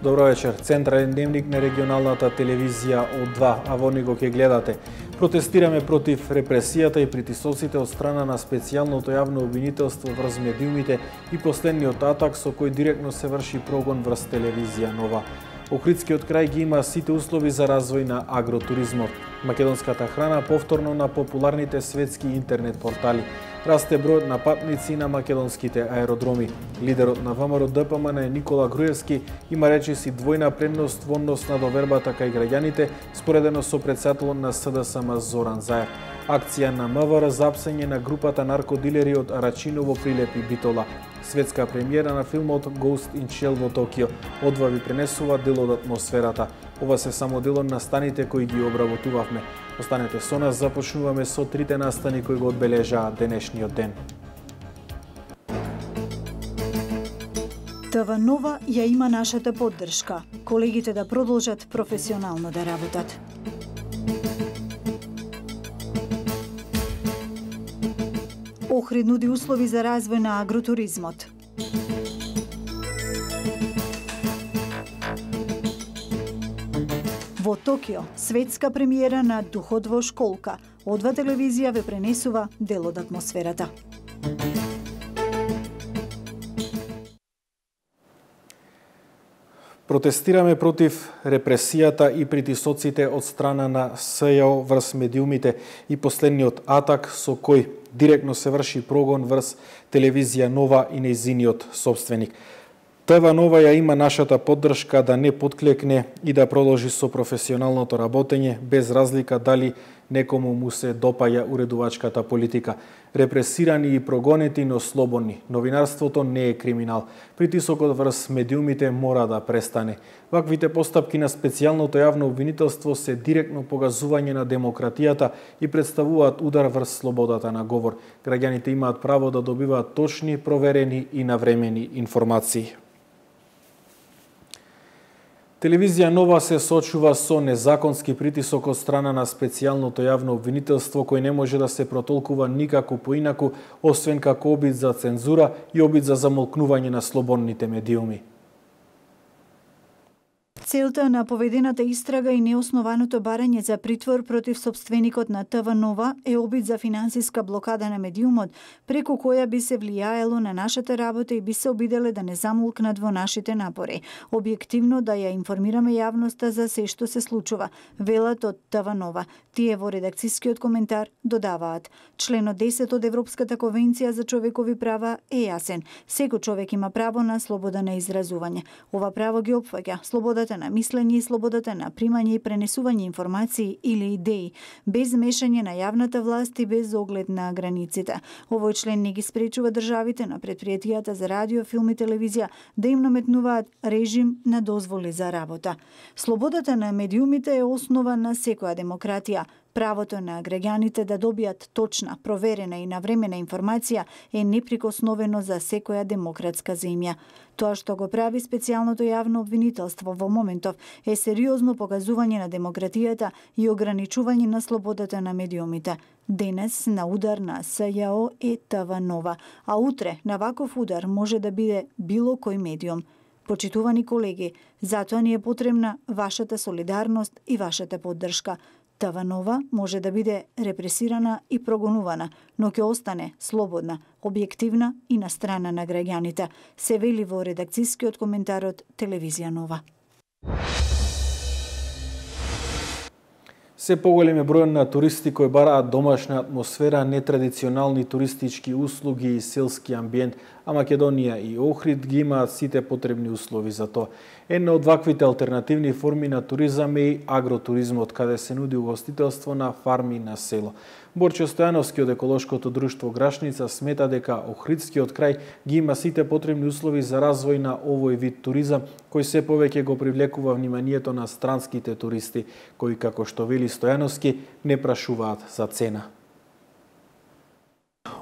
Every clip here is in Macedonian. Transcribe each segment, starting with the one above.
Добро вечер. Централен дневник на регионалната телевизија О2, а во него ќе гледате. Протестираме против репресијата и притисоците од страна на специјалното јавно обвинителство врз медиумите и последниот атак со кој директно се врши прогон врз телевизија Нова. Охридскиот крај ги има сите услови за развој на агротуризмот. Македонската храна повторно на популарните светски интернет портали. Расте бројот на патници на македонските аеродроми. Лидерот на ВМРО ДПМН Никола Груевски има речиси двојна предност во однос на довербата кај граѓаните, споредено со председателот на СДСМ Зоран Заев. Акција на МВР за апсење на групата наркодилери од Арачиново, Прилеп и Битола. Светска премиера на филмот Ghost in Shell во Токио. Одва ви пренесува дел од атмосферата. Ова се само дел од настаните кои ги обработувавме. Останете со нас, започнуваме со трите настани кои го одбележаа денешниот ден. ТВ Нова ја има нашата поддршка. Колегите да продолжат професионално да работат. Охрид нуди услови за развој на агротуризмот. Во Токио, светска премиера на Духот во школка. О2 телевизија ве пренесува дел од атмосферата. Протестираме против репресијата и притисоците од страна на СЈО врз медиумите и последниот атак со кој директно се врши прогон врз телевизија Нова и нејзиниот собственик. ТВ Нова ја има нашата поддршка да не подклекне и да продолжи со професионалното работење, без разлика дали некому му се допаја уредувачката политика. Репресирани и прогонети, но слободни. Новинарството не е криминал. Притисокот врз медиумите мора да престане. Ваквите постапки на специјалното јавно обвинителство се директно погазување на демократијата и представуваат удар врз слободата на говор. Граѓаните имаат право да добиваат точни, проверени и навремени информации. Телевизија Нова се соочува со незаконски притисок од страна на специјалното јавно обвинителство кој не може да се протолкува никако поинаку, освен како обид за цензура и обид за замолкнување на слободните медиуми. Целта на поведената истрага и неоснованото барање за притвор против собственикот на ТВ Нова е обид за финансиска блокада на медиумот, преку која би се влијаело на нашата работа и би се обиделе да не замолкнат во нашите напори. Објективно да ја информираме јавноста за се што се случува, велат од ТВ Нова. Тие во редакцискиот коментар додаваат: членот 10 од Европската конвенција за човекови права е јасен. Секој човек има право на слобода на изразување. Ова право ги опфаќа слободата на мислење и слободата на примање и пренесување информации или идеи, без мешање на јавната власт и без оглед на границите. Овој член не ги спречува државите на предпријатијата за радио, филм и телевизија да им наметнуваат режим на дозволи за работа. Слободата на медиумите е основа на секоја демократија. Правото на граѓаните да добијат точна, проверена и навремена информација е неприкосновено за секоја демократска земја. Тоа што го прави специјалното јавно обвинителство во моментов е сериозно покажување на демократијата и ограничување на слободата на медиумите. Денес на удар на СЈО е ТВ Нова, а утре на ваков удар може да биде било кој медиум. Почитувани колеги, затоа ни е потребна вашата солидарност и вашата поддршка. ТВ Нова може да биде репресирана и прогонувана, но ќе остане слободна, објективна и на страна на граѓаните, се вели во редакцискиот коментар од телевизија Нова. Се поголем е бројот на туристи кои бараат домашна атмосфера, нетрадиционални туристички услуги и селски амбиент, а Македонија и Охрид ги имаат сите потребни услови за тоа. Една од ваквите алтернативни форми на туризам е и агротуризмот, каде се нуди угостителство на фарми на село. Борче Стојановски од еколошкото друштво Грашница смета дека Охридскиот крај ги има сите потребни услови за развој на овој вид туризам, кој се повеќе го привлекува вниманието на странските туристи, кои, како што вели Стојановски, не прашуваат за цена.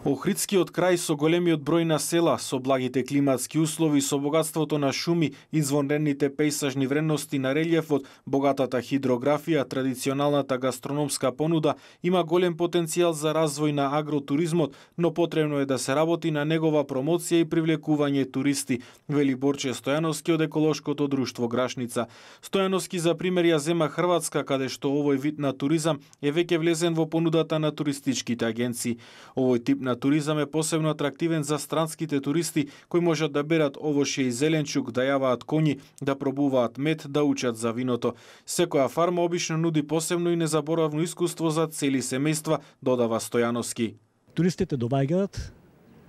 Охридскиот крај со големиот број на села, со благите климатски услови, со богатството на шуми, извонредните пејсажни вредности на релјефот, богатата хидрографија, традиционалната гастрономска понуда, има голем потенцијал за развој на агротуризмот, но потребно е да се работи на негова промоција и привлекување туристи, вели Борче Стојановски од еколошкото друштво Грашница. Стојановски за пример ја зема Хрватска, каде што овој вид на туризам е веќе влезен во понудата на туристичките агенции. Овој тип на туризам е посебно атрактивен за странските туристи кои можат да берат овошје и зеленчук, да јаваат коњи, да пробуваат мед, да учат за виното. Секоја фарма обично нуди посебно и незаборавно искуство за цели семејства, додава Стојановски. Туристите доаѓаат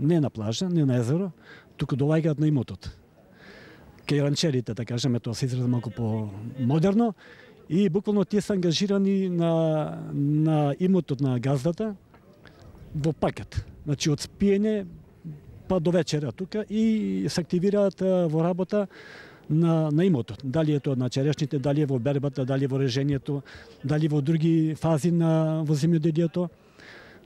не на плажа, не на езеро, туку доаѓаат на имотот. Кај ранчерите, да кажеме, тоа се изрази малку по-модерно и буквално тие се ангажирани на имотот на газдата во пакет. Значи од спиење па до вечера тука и се активираат во работа на имотот. Дали е тоа на черешните, дали е во бербата, дали во режењето, дали во други фази во земјоделието.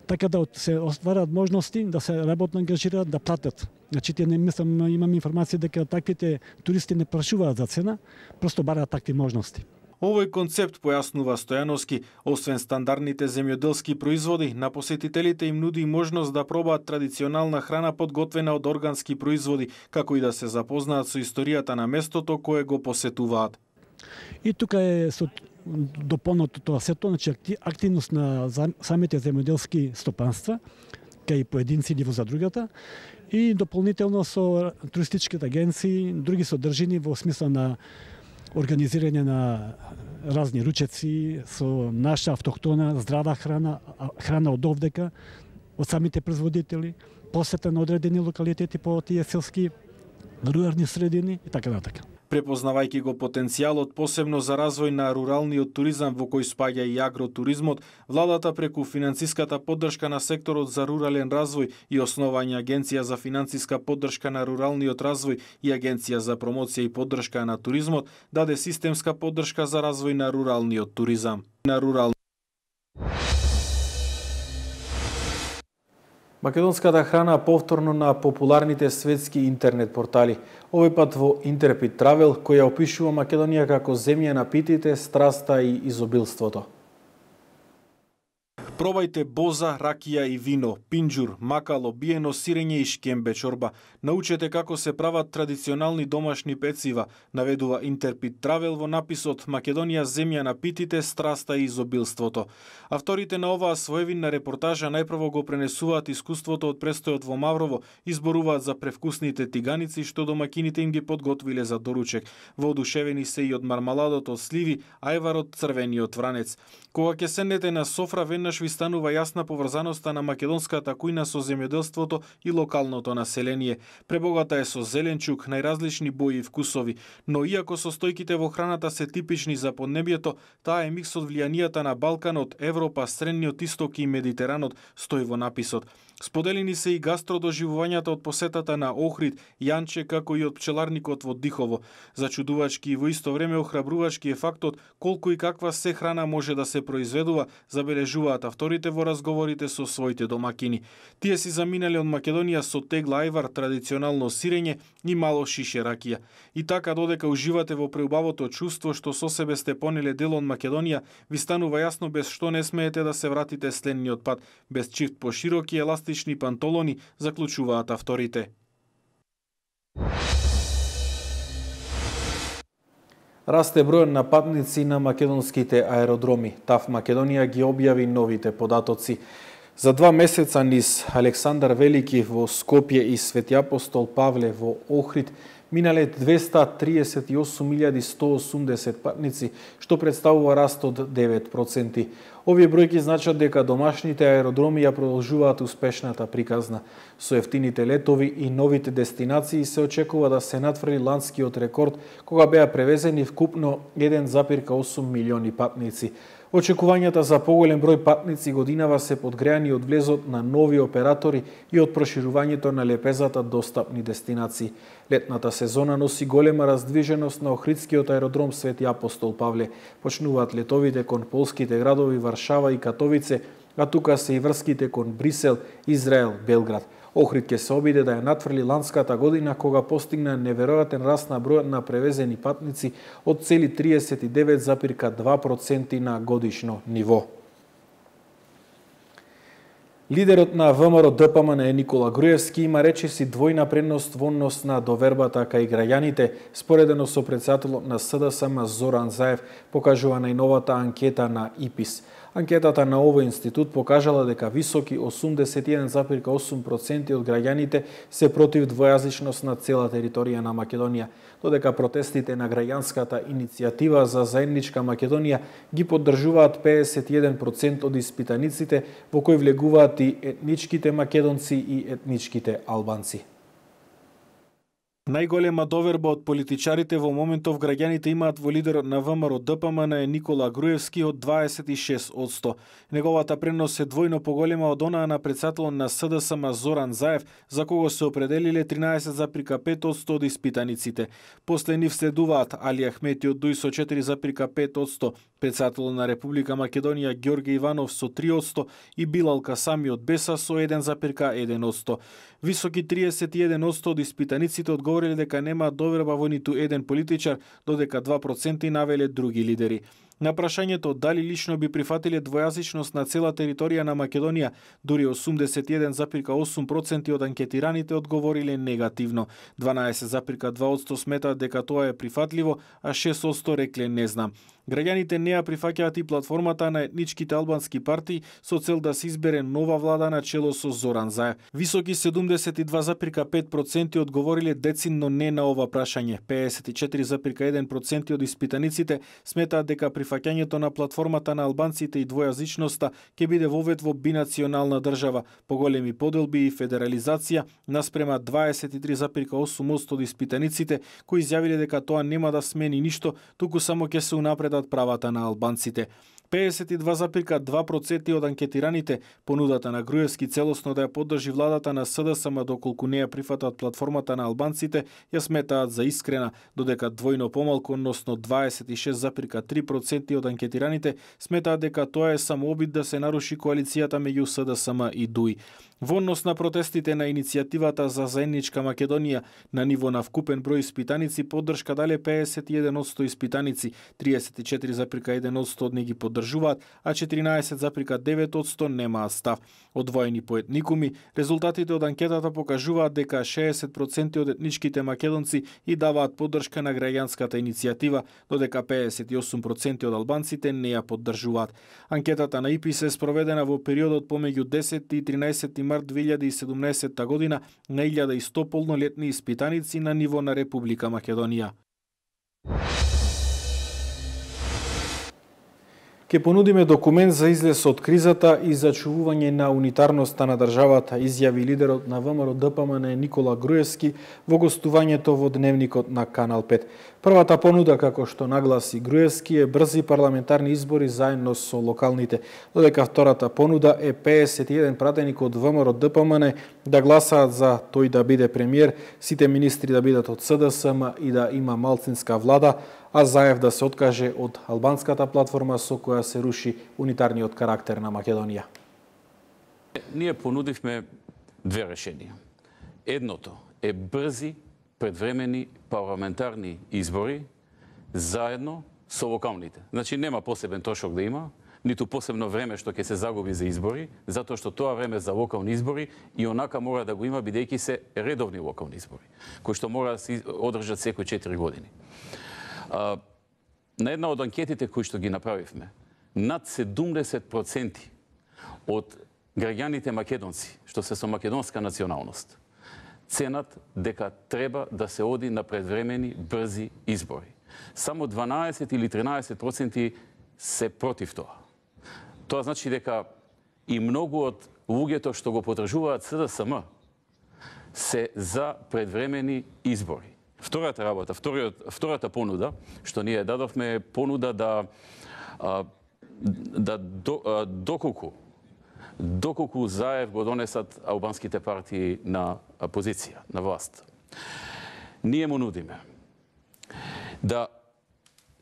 Така да се остварат можности да се работно ангажираат, да платат. Значи, не мислам, имам информација дека таквите туристи не прашуваат за цена, просто бараат такви можности. Овој концепт, појаснува Стојановски, освен стандардните земјоделски производи, на посетителите им нуди можност да пробаат традиционална храна подготвена од органски производи, како и да се запознаат со историјата на местото кое го посетуваат. И тука е со дополнато тоа сето, значи активност на самите земјоделски стопанства, кај поединци или во задрugата, и дополнително со туристичките агенции, други содржини во смисла на организирање на разни ручеци со наша автохтона здрава храна од овдека, од самите производители, посета на одредени локалитети по тие селски рурални средини и така натака. Препознавајќи го потенцијалот посебно за развој на руралниот туризам во кој спаѓа и агротуризмот, владата преку финансиската поддршка на секторот за рурален развој и основање Агенција за финансиска поддршка на руралниот развој и Агенција за промоција и поддршка на туризмот даде системска поддршка за развој на руралниот туризам. Македонската храна повторно на популарните светски интернет портали. Овој пат во Interpret Travel, која опишува Македонија како земја на питите, страста и изобилството. Пробајте боза, ракија и вино, пинџур, макало, биено сирење и шкембе чорба. Научете како се прават традиционални домашни пецива, наведува Interpret Travel во написот Македонија земја на питите, страста и изобилството. Авторите на оваа своевинна репортажа најпрво го пренесуваат искуството од престојот во Маврово, изборуваат за превкусните тиганици што домакините им ги подготвиле за доручек. Воодушевени се и од мармаладот од сливи, ајвар од црвениот вранец. Кога ќе седнете на софра, веднаш ви станува јасна поврзаноста на македонската кујна со земјоделството и локалното население. Пребогата е со зеленчук, најразлични бои и вкусови, но иако состојките во храната се типични за поднебјето, таа е микс од влијанијата на Балканот, Европа, Средниот Исток и Медитеранот, стои во написот. Споделени се и гастродоживувањата од посетата на Охрид, Јанче, како и од пчеларникот во Дихово. Зачудувачки и во исто време охрабрувачки е фактот колку и каква се храна може да се произведува, забележуваат авторите во разговорите со своите домакини. Тие си заминале од Македонија со тегла ајвар, традиционално сирење и мало шише ракија. И така, додека уживате во преубавото чувство што со себе сте понеле дел од Македонија, ви станува јасно без што не смеете да се вратите следниот пат, без чифт по широки еластични пантолони, заклучуваат авторите. Расте бројот на патници на македонските аеродроми. ТАВ Македонија ги објави новите податоци. За 2 месеца низ Александар Велики во Скопје и Свети Апостол Павле во Охрид минале 238.180 патници, што представува раст од 9%. Овие бројки значат дека домашните аеродроми ја продолжуваат успешната приказна. Со ефтините летови и новите дестинации се очекува да се надфрли ланскиот рекорд, кога беа превезени вкупно 1,8 милиони патници. Очекувањата за поголем број патници годинава се подгреани од влезот на нови оператори и од проширувањето на лепезата достапни дестинации. Летната сезона носи голема раздвиженост на Охридскиот аеродром Свети Апостол Павле. Почнуваат летовите кон полските градови Варшава и Катовице, а тука се и врските кон Брисел, Израел, Белград. Охрид ќе се обиде да ја натврли ланската година кога постигна неверојатен раст на бројот на превезени патници од цели 39,2% на годишно ниво. Лидерот на ВМРО ДПМН Никола Груевски има речиси двојна предност во однос на довербата кај граѓаните, споредено со претседателот на СДСМ Зоран Заев, покажува најновата анкета на ИПИС. Анкетата на овој институт покажала дека високи 81,8% од граѓаните се против двојазичност на цела територија на Македонија, додека протестите на граѓанската иницијатива за заедничка Македонија ги поддржуваат 51% од испитаниците, во кои влегуваат и етничките македонци и етничките албанци. Најголема доверба од политичарите во моментов граѓаните имаат во лидерот на ВМРО ДПМН Никола Груевски од 26%. Неговата предност е двојно поголема од онаа на претседателот на СДСМ Зоран Заев, за кого се определиле 13,5% од испитаниците. После нив следуваат Али Ахмети од ДУИ со 4,5%, претседателот на Република Македонија Ѓорге Иванов со 3% и Билал Касами од БЕСА со 1,1%. Високи 31% од испитаниците одговориле дека нема доверба во ниту еден политичар, додека 2% навеле други лидери. На прашањето дали лично би прифатиле двојазичност на цела територија на Македонија, дури 81,8% од анкетираните одговориле негативно. 12,2% сметаат дека тоа е прифатливо, а 6% рекле не знам. Граѓаните не ја прифаќаат и платформата на етничките албански партии со цел да се избере нова влада на чело со Зоран Заев. Високи 72,5% одговориле децидно не на ова прашање. 54,1% од испитаниците сметаат дека прифаќањето на платформата на албанците и двојазичноста ќе биде вовед во бинационална држава, поголеми поделби и федерализација, наспрема 23,8% од испитаниците кои изјавиле дека тоа нема да смени ништо, туку само ќе се унапредат правата на албанците. 52,2% од анкетираните понудата на Груевски целосно да ја поддржи владата на СДСМ доколку не ја прифатат платформата на албанците, ја сметаат за искрена, додека двојно помалку, односно 26,3% од анкетираните сметаат дека тоа е само обид да се наруши коалицијата меѓу СДСМ и ДУИ. Во однос на протестите на иницијативата за заедничка Македонија, на ниво на вкупен број испитаници поддршка дале 51% испитаници, 34,1% од нив ги поддржуваат, а 14,9% немаат став. Одвоени по етникуми, резултатите од анкетата покажуваат дека 60% од етничките македонци и даваат поддршка на граѓанската иницијатива, додека 58% од албанците не ја поддржуваат. Анкетата на ИПИС е спроведена во периодот помеѓу 10 и 13 март 2017 година на 1100 полнолетни испитаници на ниво на Република Македонија. Ке понудиме документ за излез од кризата и зачувување на унитарноста на државата, изјави лидерот на ВМРО ДПМН Никола Груевски во гостувањето во Дневникот на Канал 5. Првата понуда, како што нагласи Груевски, е брзи парламентарни избори заедно со локалните, додека втората понуда е 51 пратеник од ВМРО ДПМН да гласаат за тој да биде премиер, сите министри да бидат од СДСМ и да има малцинска влада, а Заев да се откаже од албанската платформа со која се руши унитарниот карактер на Македонија. Ние понудивме две решенија. Едното е брзи предвремени парламентарни избори заедно со локалните. Значи нема посебен трошок да има, ниту посебно време што ќе се загуби за избори, затоа што тоа време за локални избори и онака мора да го има бидејќи се редовни локални избори, кои што мора да се одржат секои 4 години. На една од анкетите кои што ги направивме, над 70% од граѓаните македонци, што се со македонска националност, ценат дека треба да се оди на предвремени брзи избори. Само 12 или 13% се против тоа. Тоа значи дека и многу од луѓето што го потржуваат СДСМ се за предвремени избори. Втората работа, втората понуда, што ние дадовме, е понуда доколку Заев го донесат албанските партии на позиција, на власт. Ние му нудиме да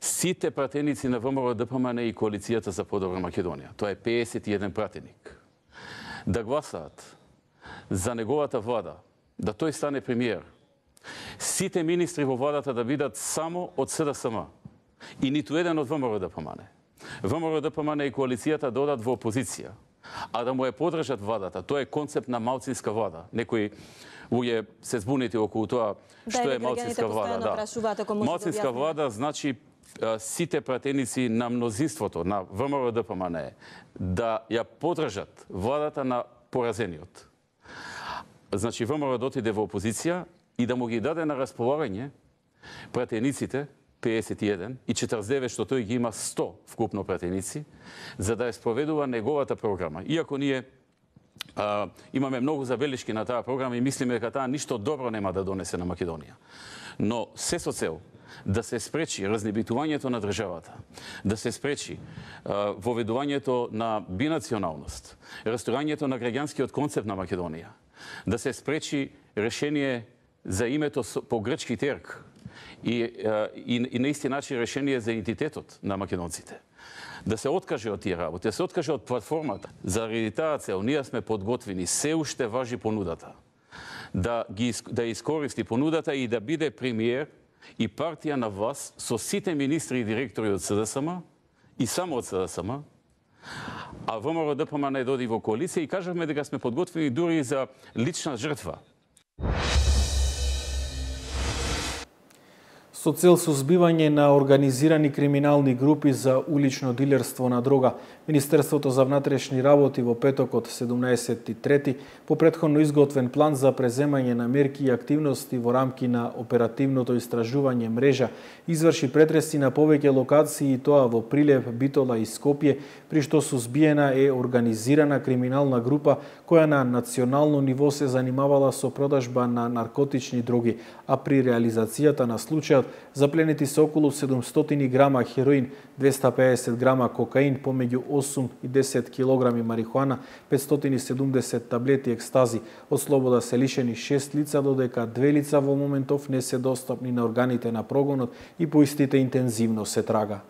сите пратеници на ВМРО ДПМН и Коалицијата за подобра Македонија, тоа е 51 пратеник, да гласаат за неговата влада, да тој стане премиер, сите министри во владата да бидат само од СДСМ и ниту еден од ВМРО ДПМН. ВМРО ДПМН и Коалицијата да одат во опозиција, а да му е подржат владата. Тоа е концепт на малцинска влада. Некои луѓе се збунети околу тоа што е малцинска влада. Малцинска влада значи сите пратеници на мнозинството на ВМРО ДПМН да ја подржат владата на поразениот. Значи ВМРО да отиде во опозиција и да му ги даде на располагање пратениците 51 и 49, што тој ги има 100 вкупно пратеници, за да ја спроведува неговата програма. Иако ние имаме многу забелишки на таа програма и мислиме дека таа ништо добро нема да донесе на Македонија. Но се со цел да се спречи разнебитувањето на државата, да се спречи воведувањето на бинационалност, расторањето на граѓанскиот концепт на Македонија, да се спречи решение за името по грчки терк и на исти начин решение за идентитетот на македонците. Да се откаже од тие работи, да се откаже од платформата. Заради таа цел ние сме подготвени, се уште важи понудата, да искористи понудата и да биде премиер и партија на власт со сите министри и директори од СДСМ и само од СДСМ, а ВМРО ДПМН доди во коалиција и кажавме дека сме подготвени дури за лична жртва. Со цел сузбивање на организирани криминални групи за улично дилерство на дрога, Министерството за внатрешни работи во петокот 17.3 по претходно изготвен план за преземање на мерки и активности во рамки на оперативното истражување мрежа изврши претреси на повеќе локации и тоа во Прилеп, Битола и Скопје, при што сузбиена е организирана криминална група која на национално ниво се занимавала со продажба на наркотични дроги, а при реализацијата на случајот запленети се околу 700 грама хероин, 250 грама кокаин, помеѓу 8 и 10 килограми марихуана, 570 таблети екстази. Од слобода се лишени 6 лица, додека 2 лица во моментов не се достапни на органите на прогонот и по истите интензивно се трага.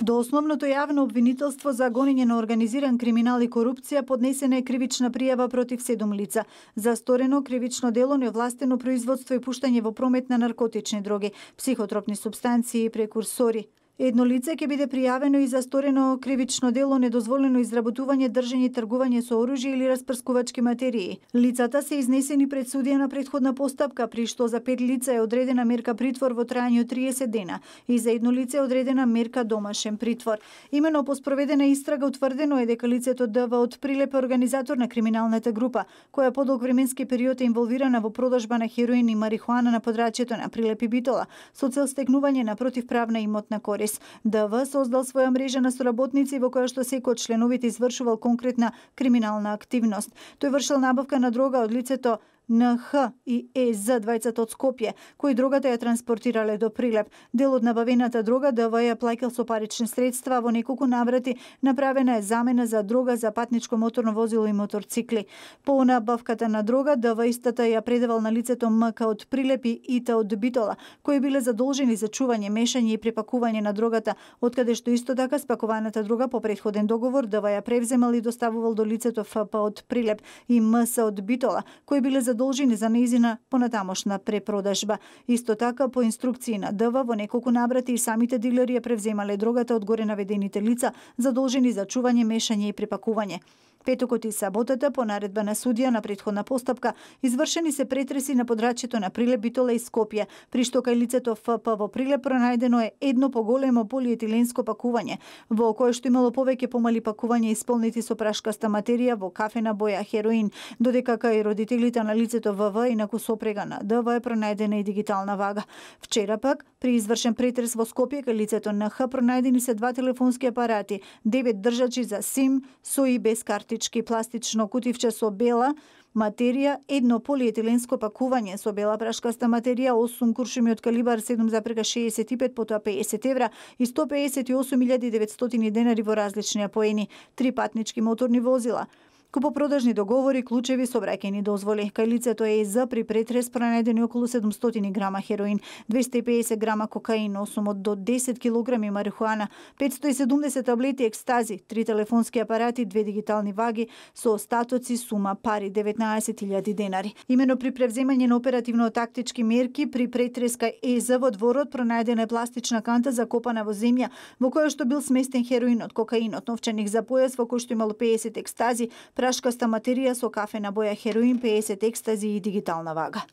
До основното јавно обвинителство за гонење на организиран криминал и корупција поднесена е кривична пријава против 7 лица за сторено кривично дело неовластено производство и пуштање во промет на наркотични дроги, психотропни супстанции и прекурсори. Едно лице ќе биде пријавено и за сторено кривично дело недозволено изработување, држење и тргување со оружје или распрскувачки материи. Лицата се изнесени пред судија на претходна постапка, при што за 5 лица е одредена мерка притвор во трајање од 30 дена и за едно лице е одредена мерка домашен притвор. Имено по спроведена истрага утврдено е дека лицето ДВ од Прилеп е организатор на криминалната група, која подолг временски период е инволвирана во продажба на хероин и марихуана на подрачјето на Прилеп и Битола, со цел стекнување на противправна имотна корис. ДВ создал своја мрежа на соработници во која што секој од членовите извршувал конкретна криминална активност. Тој вршил набавка на дрога од лицето НХ и ЕЗ, двајцата од Скопје, кои дрогата ја транспортирале до Прилеп. Дел од набавената дрога ДВ ја плаќал со парични средства, во неколку наврати направена е замена за дрога за патничко моторно возило и моторцикли. По набавката на дрога ДВ истата ја предавал на лицето МК од Прилеп и ИТ од Битола, кои биле задолжени за чување, мешање и препакување на дрогата, откаде што исто така спакуваната дрога по претходен договор ДВ ја превземал и доставувал до лицето ФП од Прилеп и МС од Битола, кои биле задолжени за нејзина понатамошна препродажба. Исто така, по инструкции на ДВ, во неколку наврати и самите дилери ја превземале дрогата од горе наведените лица, задолжени за чување, мешање и препакување. Петокот и саботата, по наредба на судија на претходна постапка, извршени се претреси на подрачјето на Прилеп, Битола и Скопје, при што кај лицето ФП во Прилеп пронајдено е едно поголемо полиетиленско пакување, во кое што имало повеќе помали пакувања исполнети со прашкаста материја во кафена боја хероин, додека кај родителите на лицето ВВ и на сопрега на ДВ е пронајдена и дигитална вага. Вчера пак, при извршен претрес во Скопје кај лицето НХ пронајдени се 2 телефонски апарати, 9 држачи за сим со и без картички, пластично кутивче со бела материја, едно полиетиленско пакување со бела прашкаста материја, 8 куршуми од калибар 7,65 потоа 50 евра и 158.900 денари во различни апоени, 3 патнички моторни возила. Купопродажни договори, клучеви, сообраќајни дозволи. Кај лицето ЕЗ при претрес пронајдени околу 700 грама хероин, 250 грама кокаин, 8 до 10 килограми марихуана, 570 таблети екстази, 3 телефонски апарати, 2 дигитални ваги со остатоци сума пари 19.000 денари. Имено при превземање на оперативно-тактички мерки при претрес кај ЕЗ во дворот пронајдена е пластична канта закопана во земја во која што бил сместен хероинот, кокаинот, новчаник за појас во кој што имало 50 екстази, прашкаста материја со кафена боја хероин, 50 екстази и дигитална вага.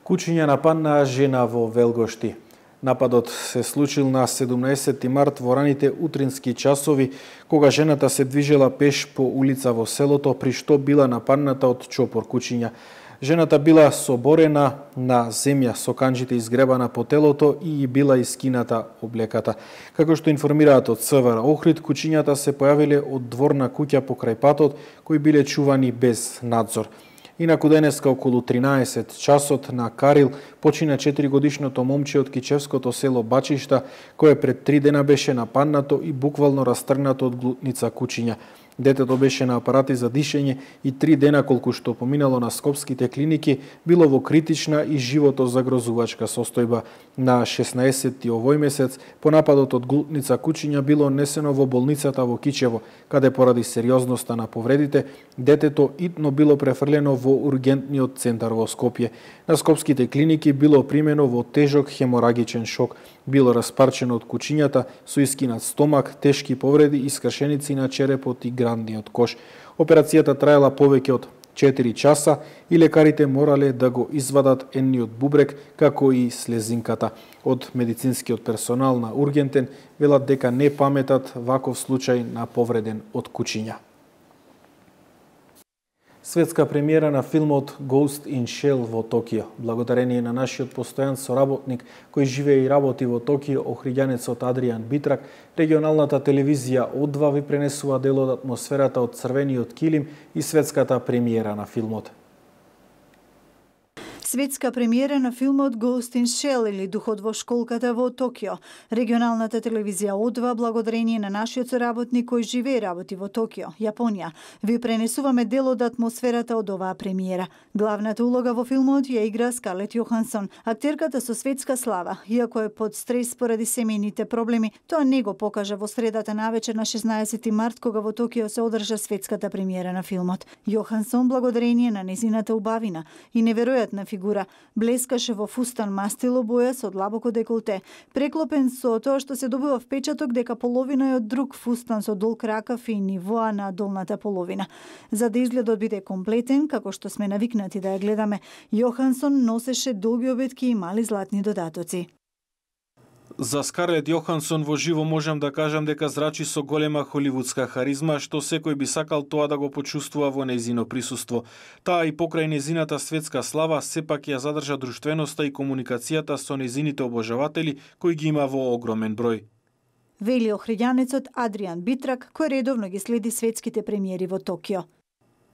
Кучиња нападнаа жена во Велгошти. Нападот се случил на 17 март во раните утрински часови, кога жената се движела пеш по улица во селото, при што била нападната од чопор кучиња. Жената била соборена на земја со канџите изгребана по телото и била искината облеката. Како што информираат од СВР Охрид, кучињата се појавиле од дворна куќа покрај патот, кои биле чувани без надзор. Инаку денеска околу 13 часот на Карил почина 4-годишното момче од кичевското село Бачишта, кое пред 3 дена беше нападнато и буквално растргнато од глутница кучиња. Детето беше на апарати за дишење и 3 дена колку што поминало на скопските клиники, било во критична и животозагрозувачка состојба. На 16 овој месец, по нападот од глутница кучиња било несено во болницата во Кичево, каде поради сериозноста на повредите, детето итно било префрлено во ургентниот центар во Скопје. На скопските клиники било примено во тежок хеморагичен шок. Било распарчено од кучињата со искинат стомак, тешки повреди и скршеници на черепот и грандниот кош. Операцијата траела повеќе од 4 часа и лекарите морале да го извадат енниот бубрек, како и слезинката. Од медицинскиот персонал на ургентен велат дека не паметат ваков случај на повреден од кучиња. Светска премиера на филмот Ghost in Shell во Токио. Благодарение на нашиот постојан соработник кој живее и работи во Токио, охриѓанецот Адриан Битрак, регионалната телевизија О2 ви пренесува дел од атмосферата од црвениот килим и светската премиера на филмот. Светска премиера на филмот Ghost in Shell или Духот во школката во Токио. Регионалната телевизија О2, благодарение на нашиот соработник кој живее и работи во Токио, Јапонија, ви пренесуваме дел од атмосферата од оваа премиера. Главната улога во филмот ја игра Скарлет Јохансон, актерката со светска слава. Иако е под стрес поради семејните проблеми, тоа не го покажа во средата навечер на 16 март, кога во Токио се одржа светската премиера на филмот. Јохансон, благодарение на незината убавина и неверојатна фигура, блескаше во фустан мастило боја со длабоко деколте, преклопен со тоа што се добива впечаток дека половина е од друг фустан со дол кракав и нивоа на долната половина. За да изгледот биде комплетен, како што сме навикнати да ја гледаме, Јохансон носеше долги обетки и мали златни додатоци. За Скарлет Јохансон во живо можам да кажам дека зрачи со голема холивудска харизма, што секој би сакал тоа да го почувствува во нејзино присуство. Таа и покрај нејзината светска слава сепак ја задржа друштвеноста и комуникацијата со нејзините обожаватели, кои ги има во огромен број. Вели охриѓанецот Адриан Битрак, кој редовно ги следи светските премиери во Токио.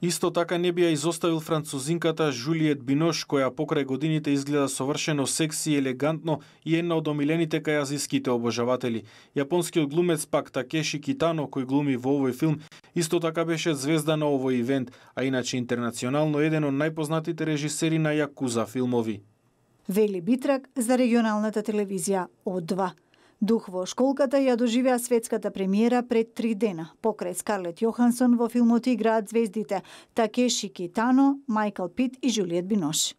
Исто така не би ја изоставил французинката Жулиет Бинош, која покрај годините изгледа совршено секси и елегантно и една од омилените кај азиските обожаватели. Јапонскиот глумец пак Такеши Китано, кој глуми во овој филм, исто така беше звезда на овој ивент, а иначе интернационално еден од најпознатите режисери на јакуза филмови. Вели Битрак за регионалната телевизија О2. Дух во школката ја доживеа светската премиера пред 3 дена. Покрај Скарлет Јохансон во филмот играат звездите Такеши Китано, Майкл Пит и Жулиет Бинош.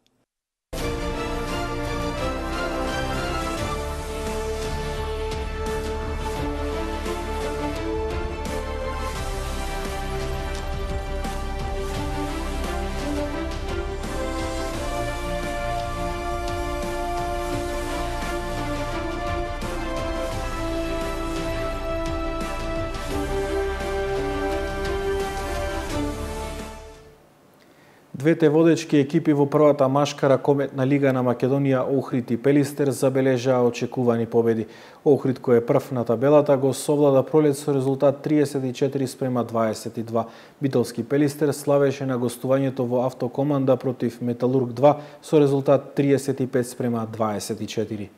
Двете водечки екипи во првата машка ракометна лига на Македонија, Охрид и Пелистер, забележаа очекувани победи. Охрид, кој е прв на табелата, го совлада Пролет со резултат 34-22. Битолски Пелистер славеше на гостувањето во Автокоманда против Металург 2 со резултат 35-24.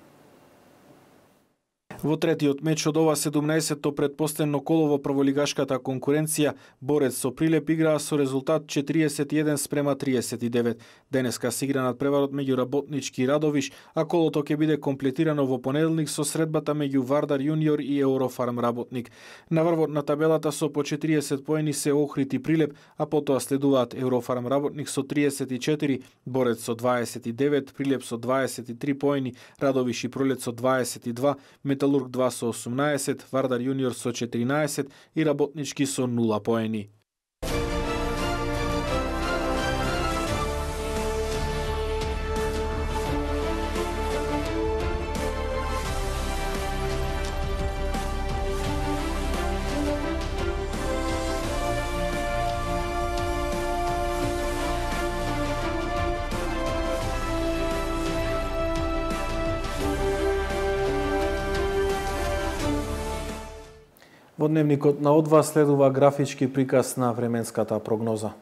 Во третиот меч од ова 17-то предпоследно коло во прволигашката конкуренција, Борец со Прилеп играа со резултат 41:39. Денеска се игра надпреварот меѓу Работнички и Радовиш, а колото ќе биде комплетирано во понеделник со средбата меѓу Вардар Јуниор и Еврофарм Работник. На врвот на табелата со по 40 поени се Охрид и Прилеп, а потоа следуваат Еврофарм Работник со 34, Борец со 29, Прилеп со 23 поени, Радовиш и Пролет со 22, Металург 2 со 18, Вардар Јуниор со 14 и Работнички со 0 поени. Во дневникот на О2 следува графички приказ на временската прогноза.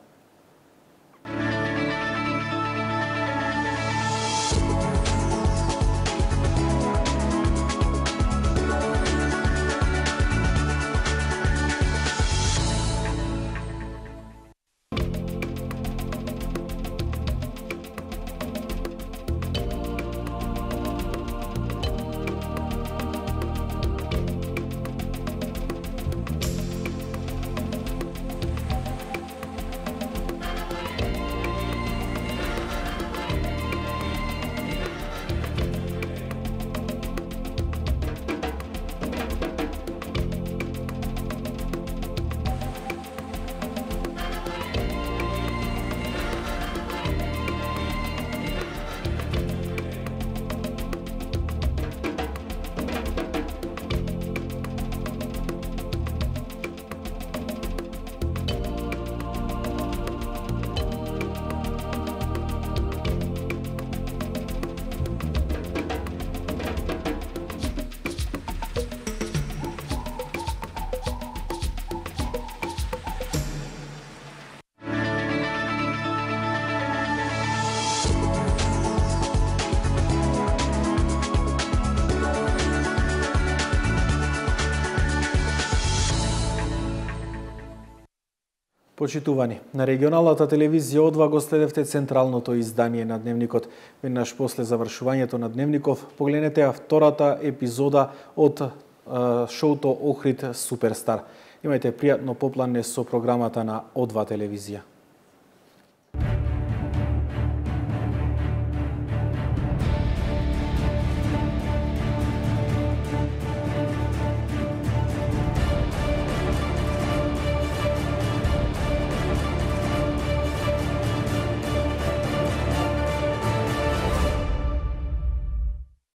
Почитувани, на регионалната телевизија О2 го следевте централното издание на Дневникот. Веднаш после завршувањето на Дневников, погледнете втората епизода од шоуто Охрид Суперстар. Имајте пријатно поплане со програмата на О2 телевизија.